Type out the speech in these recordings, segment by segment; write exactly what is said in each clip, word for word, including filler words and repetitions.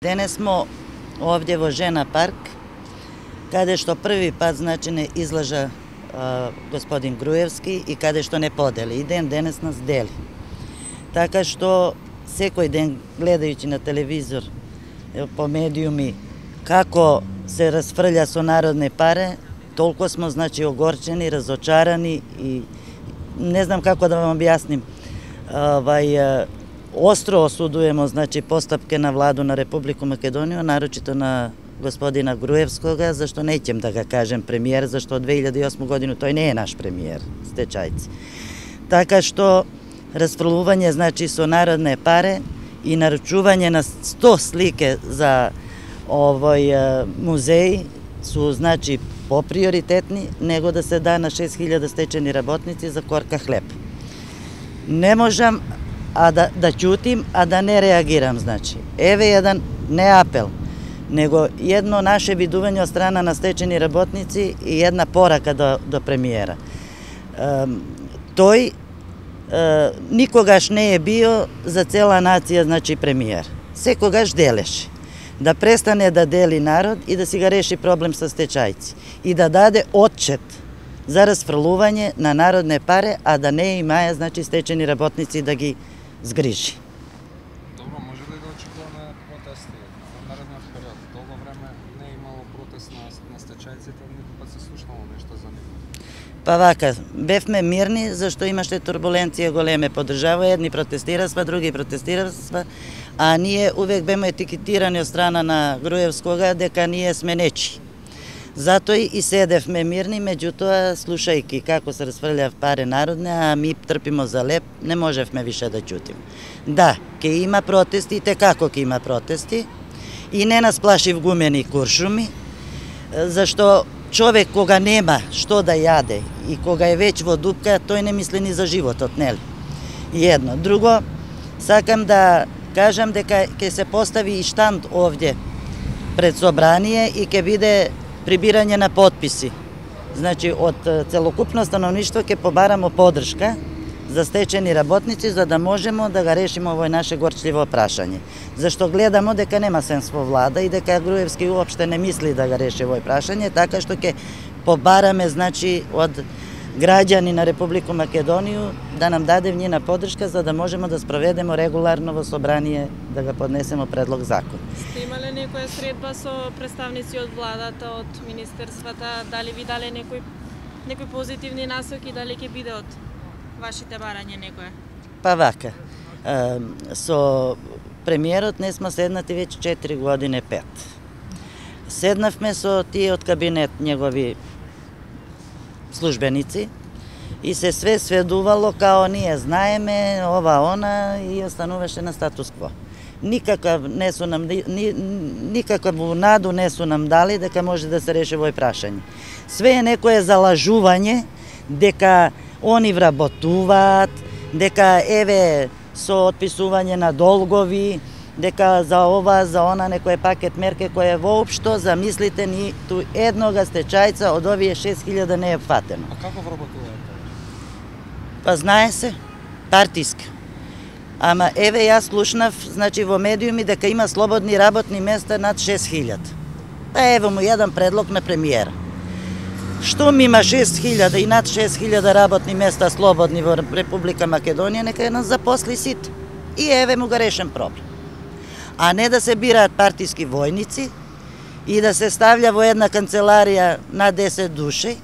Денес смо овде во Жена парк, каде што први пат значи не излажа а, господин Груевски и каде што не подели. И ден денес нас дели. Така што секој ден гледајќи на телевизор, по медиуми, како се расфрља со народни паре, толку смо значи огорчени, разочарани и не знам како да вам објасним. Овај остро осудуваме значи постапке на владу на Република Македонија, нарочито на господина Груевскога, зашто неќем да га кажем премиер, зашто од две илјади и осма година тој не е наш премиер, стечајци. Така што расфрлување значи со народне паре и наручување на сто слике за овој музеј су значи поприоритетни него да се да на шест илјади стечени работници за корка хлеб. Не можам а да, да ќутим, а да не реагирам, значи. Еве еден не апел, него едно наше видување од страна на стечени работници и една порака до, до премиера. Е, тој е, никогаш не е био за цела нација, значи, премиер. Секогаш делеше. Да престане да дели народ и да си ga реши проблем со стечајци. И да даде отчет за расфрлување на народне паре, а да не имаја, значи, стечени работници да ги згрижи. Добро, може ли да очекуваме протести во наредниот период? Долго време не е имало протест на, на стечајците, никога пат се слушнало нешто за нив. Па вака, бевме мирни, зашто имаше турбуленција големе по држава, едни протестирасва, други протестирасва, а ние увек беме етикетирани од страна на Груевскога дека ние сме нечи. Затоа и седевме мирни, меѓутоа, слушајки како се расфрљав паре народне, а ми трпимо за леп, не можевме више да ќутим. Да, ке има протести, те како ке има протести, и не нас плаши в гумени куршуми, зашто човек кога нема што да јаде и кога е веќе во дупка, тој не мисли ни за животот, нели? Едно. Друго, сакам да кажам дека ќе се постави и штанд овде пред собрание и ќе биде прибирање на потписи. Значи, од целокупно становништво ќе побарамо подршка за стечени работници, за да можеме да го решиме овој наше горчливо прашање. Зашто гледамо дека нема сенс во влада и дека Груевски уопште не мисли да го реши овој прашање, така што ќе побараме, значи, од граѓани на Република Македонија да нам даде нивна подршка за да можеме да спроведеме регуларно во собрание да го поднесеме предлог закон. Сте имале некоја средба со представници од владата, од министерствата, дали ви дале некои некои позитивни насоки, дали ќе биде од вашите барања некоја? Па вака, со премиерот не сме седнати веќе четири години, пет. Седнавме со тие од кабинет негови службеници и се све сведувало као ние знаеме, ова, она и остануваше на статус кво. Никакав не су нам ни, никакаву наду не су нам дали дека може да се реши овој прашање. Све е некое залажување дека они вработуваат, дека еве со отписување на долгови, дека за ова, за она некој пакет мерке кој е воопшто, замислите, ни ту еднога стечајца од овие шест илјади не е фатено. А како вработуваат? Па знае се, партиска. Ама еве јас слушнав, значи во медиуми дека има слободни работни места над шест илјади. Па ево му еден предлог на премиера. Штом има шест илјади и над шест илјади работни места слободни во Република Македонија, нека ја нас запосли сите. И еве му го решен проблем. А не да се бираат партиски војници и да се ставља во една канцеларија на десет души,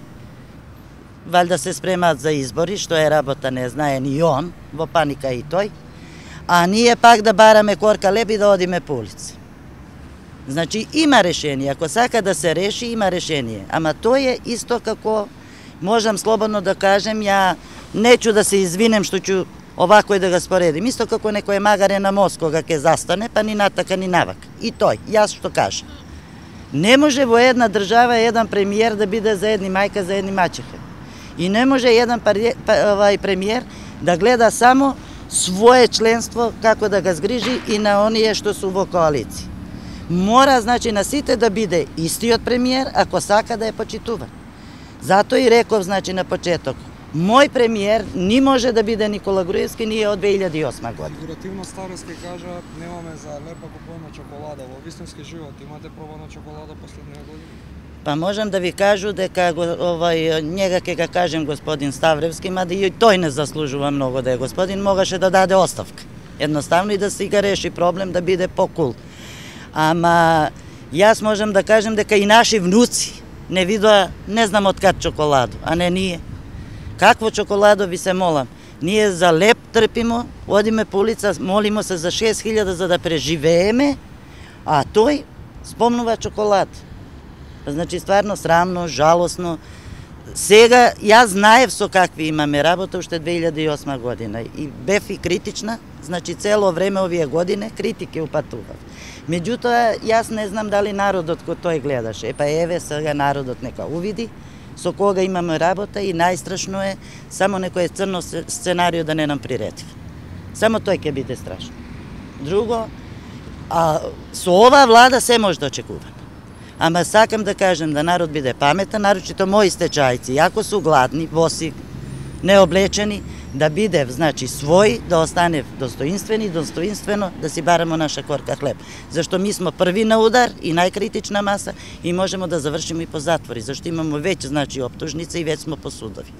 валјда се спремаат за избори, што е работа не знае ни он, во паника и тој, а ние пак да бараме корка леб и да одиме по улици. Значи има решение, ако сака да се реши, има решение, ама тој е исто како, можам слободно да кажем, ја неќу да се извинем што ќе овако и да го споредим. Исто како некој магаре на мост кога ќе застане, па ни натака ни навак. И тој, јас што кажам. Не може во една држава еден премиер да биде за едни мајка, за едни мачеха. И не може еден овај премиер да гледа само свое членство како да го згрижи и на оние што су во коалиција. Мора, значи, на сите да биде истиот премиер ако сака да е почитува. Затоа и реков, значи, на почеток, Мој премиер ни може да биде Никола Груевски, ние од две илјади и осма година. Фигуративно староски кажа, немаме за лепа купувана чоколада. Во вистински живот имате пробана чоколада последнија година? Па можам да ви кажу дека овај njega ќе ga кажем господин Ставревски, мада и тој не заслужува многу да е господин, могаше да даде оставка. Едноставно и да си ga реши проблем да биде покул. Ама јас можам да кажем дека и наши внуци не видоа, не знам од кад чоколадо, а не ние. Какво чоколадо ви се молам? Ние за леп трпимо, одиме по улица, молимо се за шест илјади за да преживееме, а тој спомнува чоколад. Значи стварно срамно, жалосно. Сега јас знаев со какви имаме работа уште две илјади и осма година и бев и критична, значи цело време овие години критики упатував. Меѓутоа, јас не знам дали народот кој тој гледаше. Епа еве сега народот нека увиди со кога имаме работа и најстрашно е само некој црно сценарио да не нам приреди. Само тој ќе биде страшно. Друго, а со ова влада се може да очекува. Ама сакам да кажем да народ биде паметен, нарочито мои стечајци, ако су гладни, боси, необлечени, да биде, значи, свој, да остане достоинствени, достоинствено, да си барамо наша корка хлеб. Зашто ми смо први на удар и најкритична маса и можемо да завршиме и по затвори, зашто имамо веќе, значи, оптужница и веќе смо по судови.